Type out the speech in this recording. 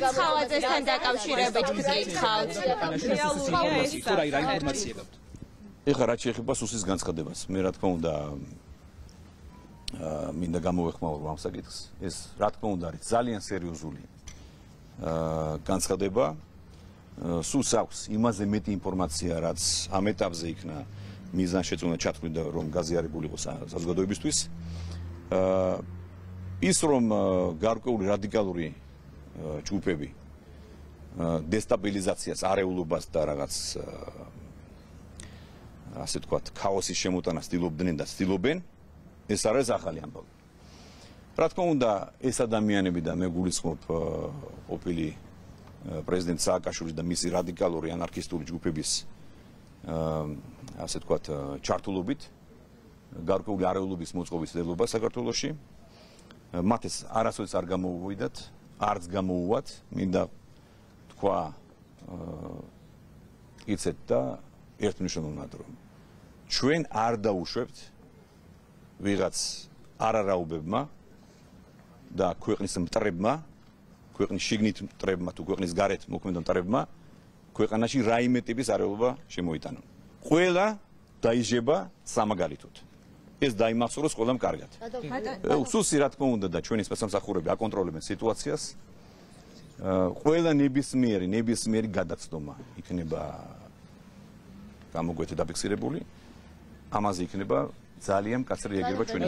არც ხალხასთან დაკავშირებით გკითხავთ. ეხლა რაც შეეხება სუსის განცხადებას, მე რა თქმა უნდა მინდა გამოვეხმაურო ამ საკითხს. ეს რა თქმა უნდა არის ძალიან სერიოზული განცხადება. სულს აქვს იმაზე მეტი ინფორმაცია, რაც ამ ეტაპზე იქნა მიზანშეწონა ჩათვლიდა, რომ გაზიარებული იყო საზოგადოებისთვის. ის რომ გარკვეული რადიკალური ჯგუფები დესტაბილიზაციას, არეულობას და რაღაც ასე ვთქვათ, ქაოსის შემოტანას ცდილობდნენ და ცდილობენ, ეს არის ახალი ამბავი. რა თქმა უნდა, ეს ადამიანები და მე გულისხმობ ყოფილი პრეზიდენტ სააკაშვილის და მისი რადიკალური ანარქისტული ჯგუფების ასე ვთქვათ, ჩართულობით გარკვეული არეულობის მოწყობის ცდილობა საქართველოში. მათ ეს არასოდეს არ გამოუვიდათ, არც გამოუვათ, მინდა თქვა იცეთ და ერთმნიშვნელოვნად რომ ჩვენ არ დაუშვებთ ვიღაც არარაუბებმა და ქვეყნის მტრებმა, ქვეყნის შიგნით მტრებმა თუ ქვეყნის გარეთ მოქმედ მტრებმა ქვეყანაში რაიმე ტიპის არეულობა შემოიტანონ. ყველა დაიჟება სამაგალითოდ. ეს დაიმახსოვროს ყველამ კარგად. სუსი რა თქმა უნდა და ჩვენი სპეცსამსახურები აკონტროლებენ სიტუაციას. ყველა ნებისმიერი გადაცდომა იქნება გამოგვეთე დაფიქსირებული. ამაზე იქნება ძალიან მკაცრი რეაგირება ჩვენი.